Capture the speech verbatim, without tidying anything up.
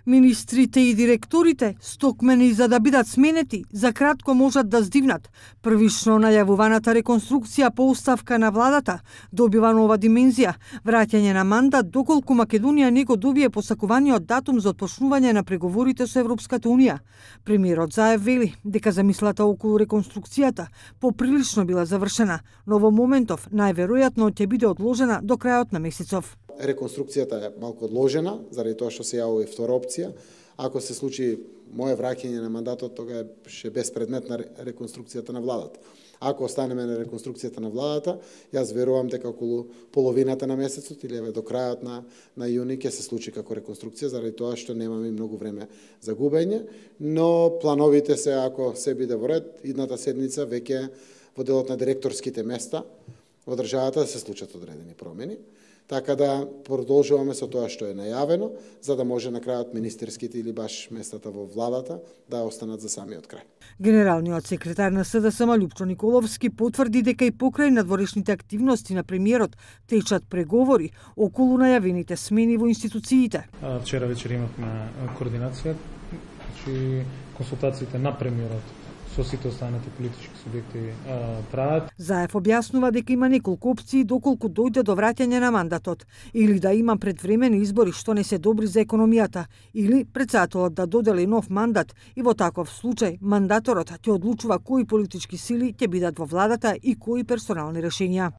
Министрите и директорите, стокмени за да бидат сменети, за кратко можат да здивнат. Првично најавуваната реконструкција по оставка на владата добива нова димензија, враќање на мандат доколку Македонија не го добие посакуваниот датум за отпочнување на преговорите со Европската унија. Премиерот Заев вели дека замислата околу реконструкцијата поприлично била завршена, но во моментов најверојатно ќе биде одложена до крајот на месецов. Реконструкцијата е малку одложена, заради тоа што се јавува и втора опција. Ако се случи мое враќање на мандатот, тога ќе беспредметна реконструкцијата на владата. Ако останеме на реконструкцијата на владата, јас верувам дека околу половината на месецот или еве до крајот на на јуни ќе се случи како реконструкција, заради тоа што немаме многу време за губење, но плановите се ако се биде во ред, идната седмица веќе во делот на директорските места во државата да се случат одредени промени. Така да продолжуваме со тоа што е најавено, за да може на крајот министерските или баш местата во владата да останат за самиот крај. Генералниот секретар на СДСМ Љупчо Николовски потврди дека и покрај надворешните активности на премиерот течат преговори околу најавените смени во институциите. Вчера вечер имавме координација, значи консултациите на премиерот со сите останати политички субјекти прават. Заев објаснува дека има неколку опции доколку дојде до враќање на мандатот, или да има предвремени избори што не се добри за економијата, или претседателот да додели нов мандат и во таков случај мандаторот ќе одлучува кои политички сили ќе бидат во владата и кои персонални решенија.